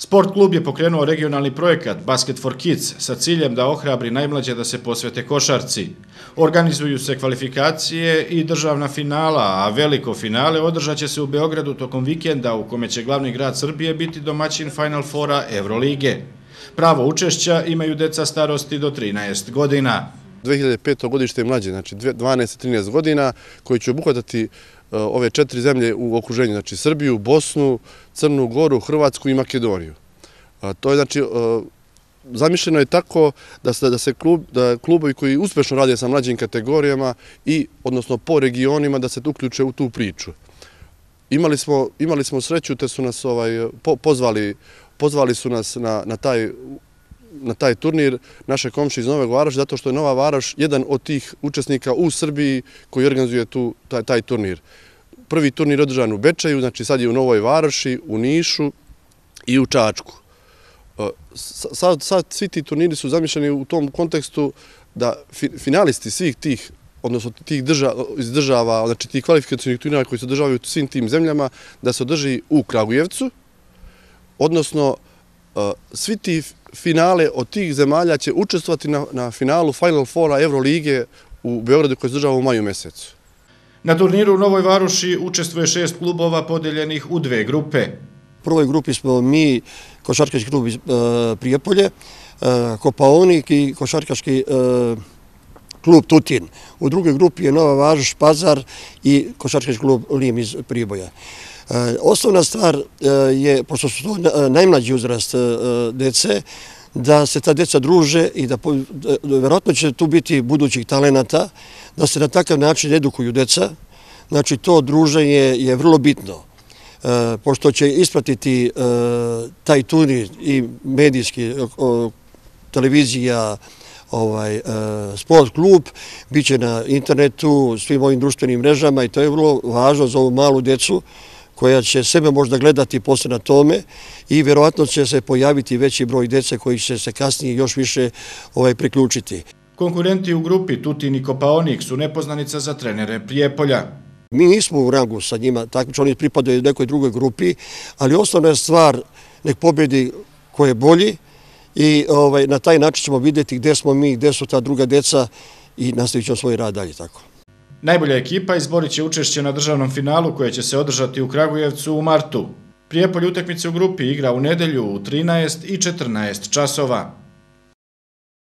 Sport klub je pokrenuo regionalni projekat Basket for Kids sa ciljem da ohrabri najmlađe da se posvete košarci. Organizuju se kvalifikacije i državna finala, a veliko finale održat će se u Beogradu tokom vikenda u kome će glavni grad Srbije biti domaćin Final Fora Evrolige. Pravo učešća imaju deca starosti do 13 godina. 2005. godište mlađe, znači 12-13 godina, koji će obuhvatati ove 4 zemlje u okruženju, znači Srbiju, Bosnu, Crnu Goru, Hrvatsku i Makedoniju. To je znači, zamišljeno je tako da klubovi koji uspešno rade sa mlađim kategorijama i, odnosno po regionima, da se uključe u tu priču. Imali smo sreću te su nas pozvali su nas na taj turnir naše komšije iz Nove Varoši, zato što je Nova Varoš jedan od tih učesnika u Srbiji koji organizuje taj turnir. Prvi turnir je održan u Bečeju, znači sad je u Novoj Varoši, u Nišu i u Čačku. Sad svi ti turniri su zamišljeni u tom kontekstu da finalisti svih tih, odnosno tih država, znači tih kvalifikacijnih turnira koji se održavaju u svim tim zemljama, da se održi u Kragujevcu, odnosno svi ti finale od tih zemalja će učestvovati na finalu Final Fora Evrolige u Beogradu koji se održava u maju mesecu. Na turniru u Novoj Varoši učestvuje 6 klubova podeljenih u 2 grupe. U prvoj grupi smo mi, košarkaški klub iz Prijepolje, Kopaonik i košarkaški klub Tutin. U drugoj grupi je Nova Varoš, Pazar i košarkaški klub Lim iz Priboja. Osnovna stvar je, pošto su to najmlađi uzrast dece, da se ta deca druže i da verovatno će tu biti budućih talenata, da se na takav način edukuju deca. Znači to druženje je vrlo bitno, pošto će ispratiti taj turnir i medijski, televizija, sport klub, bit će na internetu, svim ovim društvenim mrežama i to je vrlo važno za ovu malu decu koja će sebe možda gledati posle na tome i vjerovatno će se pojaviti veći broj dece koji će se kasnije još više priključiti. Konkurenti u grupi Tutin i Kopaonik su nepoznanica za trenere Prijepolja. Mi nismo u rangu sa njima, takmično oni pripadaju nekoj drugoj grupi, ali osnovna je stvar nek pobjedi ko je bolji i na taj način ćemo vidjeti gdje smo mi, gdje su ta druga deca i nastavit ćemo svoj rad dalje tako. Najbolja ekipa izborit će učešće na državnom finalu koje će se održati u Kragujevcu u martu. Prijepolje utakmice u grupi igra u nedelju u 13 i 14 časova.